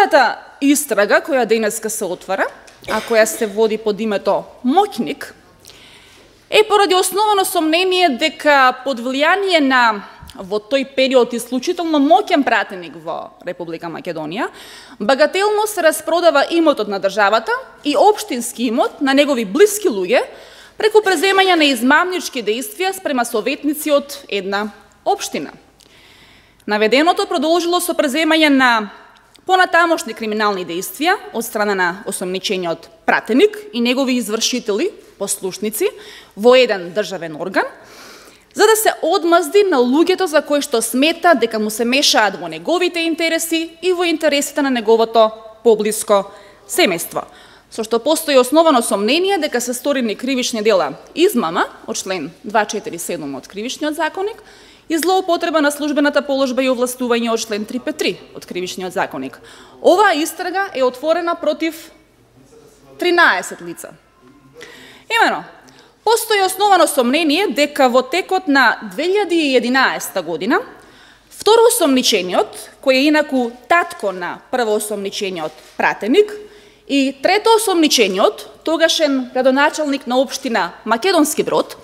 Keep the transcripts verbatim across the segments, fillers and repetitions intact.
Првата истрага која денеска се отвара, а која се води под името Моќник, е поради основано сомнение дека под влијание на во тој период исклучително моќен пратеник во Република Македонија, багателно се распродава имотот на државата и општински имот на негови блиски луѓе преку преземање на измамнички дејствија спрема советници од една општина. Наведеното продолжило со преземање на понатамошни криминални дејствија од страна на осомничениот пратеник и негови извршители, послушници, во еден државен орган, за да се одмазди на луѓето за кои што смета дека му се мешаат во неговите интереси и во интересите на неговото поблиско семејство, со што постои основано сомнение дека се сторени кривични дела измама од член дваесет и четири седум од Кривичниот законник и злоупотреба на службената положба и овластување од член триста петдесет и три од Кривичниот законник. Оваа истрага е отворена против тринаесет лица. Имено, постои основано сомнение дека во текот на две илјади и единаесета година второосомничениот, кој е инаку татко на првоосомничениот пратеник, и третоосомничениот, тогашен градоначалник на општина Македонски Брод,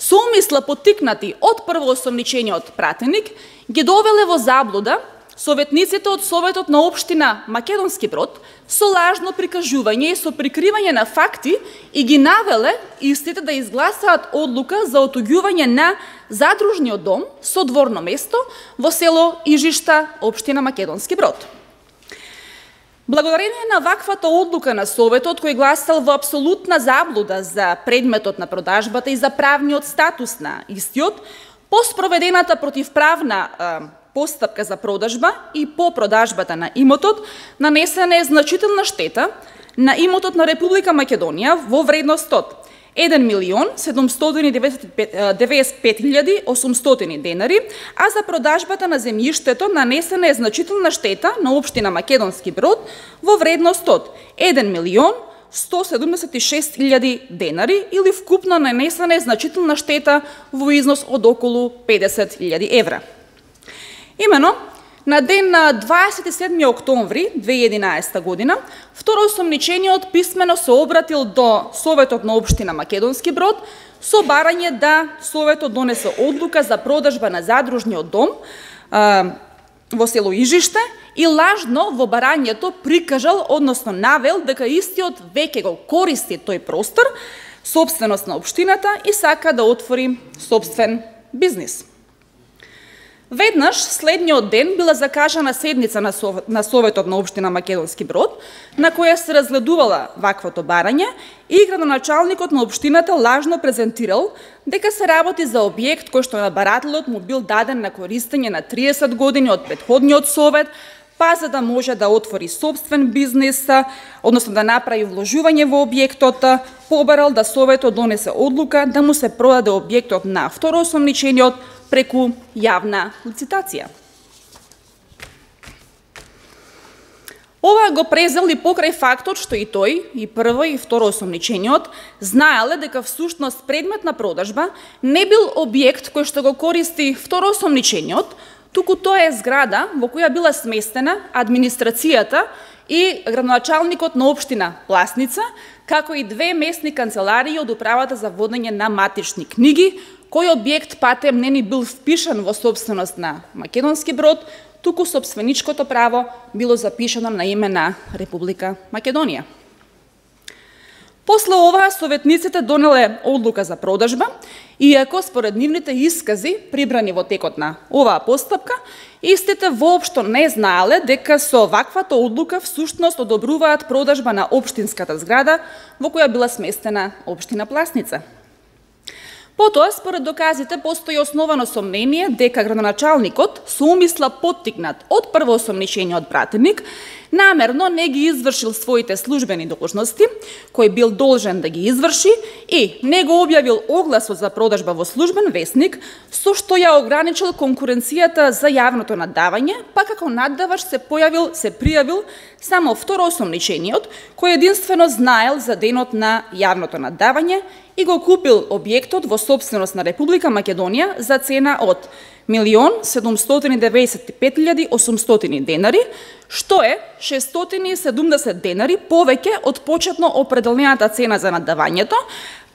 со умисла поттикнати од првоосомничениот пратеник, ги довеле во заблуда советниците од Советот на општина Македонски Брод со лажно прикажување и со прикривање на факти и ги навеле истите да изгласаат одлука за отуѓување на задружниот дом со дворно место во село Ижишта, општина Македонски Брод. Благодарение на ваквата одлука на Советот, кој гласал во апсолутна заблуда за предметот на продажбата и за правниот статус на истиот, по спроведената противправна е, постапка за продажба и по продажбата на имотот, нанесена е значителна штета на имотот на Република Македонија во вредност од еден милион седумстотини деветдесет и пет илјади осумстотини денари, а за продажбата на земјиштето нанесена е значителна штета на општина Македонски Брод во вредност од еден милион сто седумдесет и шест илјади денари или вкупно нанесена е значителна штета во износ од околу педесет илјади евра. Имено, на ден на дваесет и седми октомври две илјади и единаесета година, второосомничениот писмено се обратил до Советот на општина Македонски Брод со барање да Советот донесе одлука за продажба на задружниот дом а, во село Ижиште и лажно во барањето прикажал, односно навел, дека истиот веќе го користи тој простор, собственост на општината и сака да отвори собствен бизнис. Веднаш следниот ден била закажана седница на, Сов... на Советот на општина Македонски Брод, на која се разгледувала ваквото барање и градоначалникот на општината лажно презентирал дека се работи за објект кој што на барателот му бил даден на користење на триесет години од претходниот совет, па за да може да отвори собствен бизнис, односно да направи вложување во објектот, побарал да Советот донесе одлука да му се продаде објектот на второосомничениот преку јавна лицитација. Ова го презел и покрај фактот што и тој, и прво и второосомничениот, знаеле дека всушност предмет на продажба не бил објект кој што го користи второосомничениот, туку тоа е зграда во која била сместена администрацијата и градоначалникот на општина Пласница, како и две местни канцеларии од управата за водење на матични книги, кој објект патем не ни бил впишан во собственост на Македонски Брод, туку собственичкото право било запишано на име на Република Македонија. После ова, советниците донеле одлука за продажба, иако според нивните искази, прибрани во текот на оваа постапка, истите воопшто не знаеле дека со ваквата одлука всушност одобруваат продажба на општинската зграда во која била сместена општина Пласница. Потоа, според доказите, постои основано сомнение дека градоначалникот со умисла поттикнат од првоосомничениот пратеник намерно не ги извршил своите службени должности, кој бил должен да ги изврши, и не го објавил огласот за продажба во службен весник, со што ја ограничил конкуренцијата за јавното наддавање, па како наддавач се појавил, се пријавил само второосомничениот, кој единствено знаел за денот на јавното наддавање и го купил објектот во собственост на Република Македонија за цена од милион седумстотини деветдесет и пет илјади осумстотини денари, што е шестстотини и седумдесет денари повеќе од почетно определената цена за наддавањето.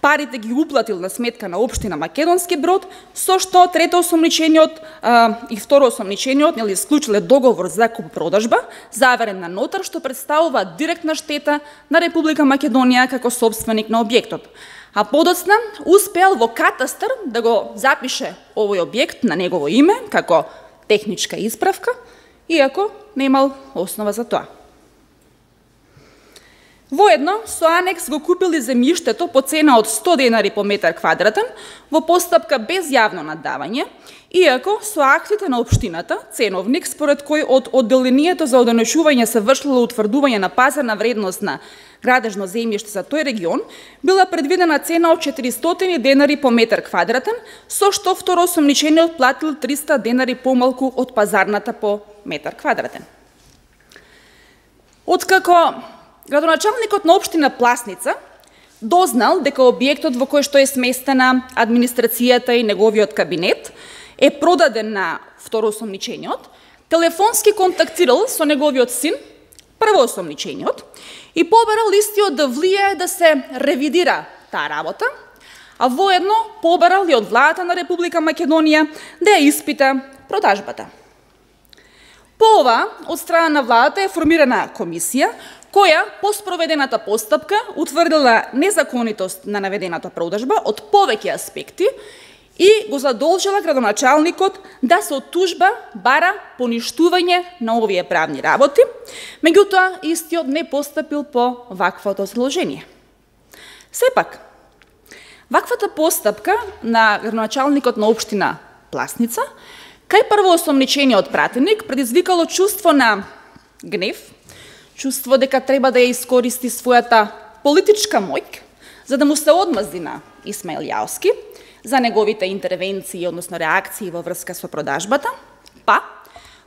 Парите ги уплатил на сметка на општина Македонски Брод, со што трето осомничениот а, и второ осомничениот нели исклучиле договор за куп-продажба, заверен на нотар, што представува директна штета на Република Македонија како собственик на објектот. А подоцна успеал во катастар да го запише овој објект на негово име како техничка исправка, иако немал основа за тоа. Воедно, со анекс го купили земјиштето по цена од сто денари по метар квадратен во постапка без јавно наддавање, иако со актите на општината, ценовник според кој од одделението за одонесување се вршило утврдување на пазарна вредност на градежно земјиште за тој регион, била предвидена цена од четиристотини денари по метар квадратен, со што второосомничениот платил триста денари помалку од пазарната по метар квадратен. Откако градоначалникот на општина Пласница дознал дека објектот во кој што е сместена администрацијата и неговиот кабинет е продаден на второосомничениот, телефонски контактирал со неговиот син, првоосомничениот, и побарал истиот да влијае да се ревидира таа работа, а воедно побарал и од владата на Република Македонија да ја испита продажбата. По ова, од страна на владата е формирана комисија, која по спроведената постапка утврдила незаконитост на наведената продажба од повеќе аспекти и го задолжила градоначалникот да со тужба бара поништување на овие правни работи, меѓутоа истиот не постапил по ваквото задолжение. Сепак, ваквата постапка на градоначалникот на општина Пласница кај првоосомничениот пратеник предизвикало чувство на гнев, чувство дека треба да ја искористи својата политичка моќ за да му се одмазди на Исмаил Јаовски за неговите интервенции, односно реакции во врска со продажбата, па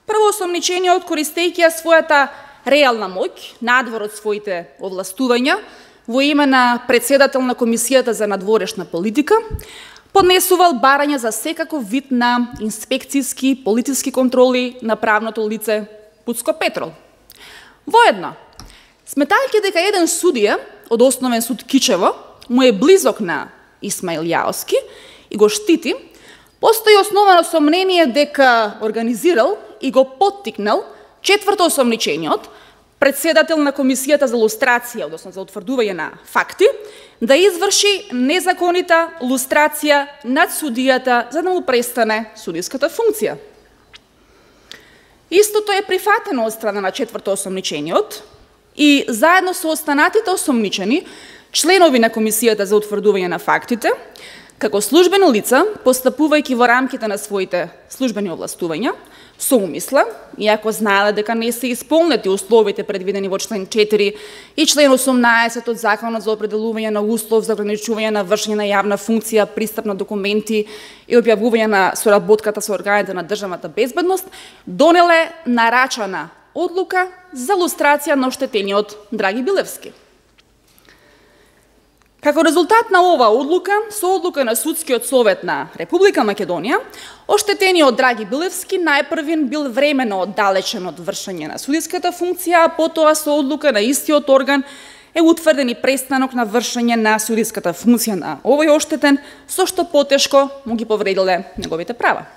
првоосомничениот, користејќи ја својата реална моќ надвор од своите овластувања во име на председател на Комисијата за надворешна политика, поднесувал барања за секаков вид на инспекцијски политички контроли на правното лице Пуцко Петрол. Воедно, сметајќи дека еден судија од Основен суд Кичево му е близок на Исмаил Јаовски и го штити, постои основано сомнение дека организирал и го поттикнал четврто осомничениот, председател на Комисијата за лустрација, односно за утврдување на факти, да изврши незаконита лустрација над судијата за да му престане судиската функција. Истото е прифатено од страна на четврто осомничениот и заедно со останатите осомничени, членови на Комисијата за утврдување на фактите, како службени лица, постапувајќи во рамките на своите службени овластувања, со умисла, иако знаеле дека не се исполнети условите предвидени во член четири и член осумнаесет од Законот за определување на услов за ограничување на вршење на јавна функција, пристап на документи и објавување на соработката со органите на државната безбедност, донеле нарачана одлука за лустрација на оштетениот Драги Билевски. Како резултат на оваа одлука, со одлука на Судскиот совет на Република Македонија, оштетениот Драги Билевски најпрвин бил времено оддалечен од вршење на судиската функција, а потоа со одлука на истиот орган е утврден и престанок на вршење на судиската функција на овој оштетен, со што потешко му ги повредиле неговите права.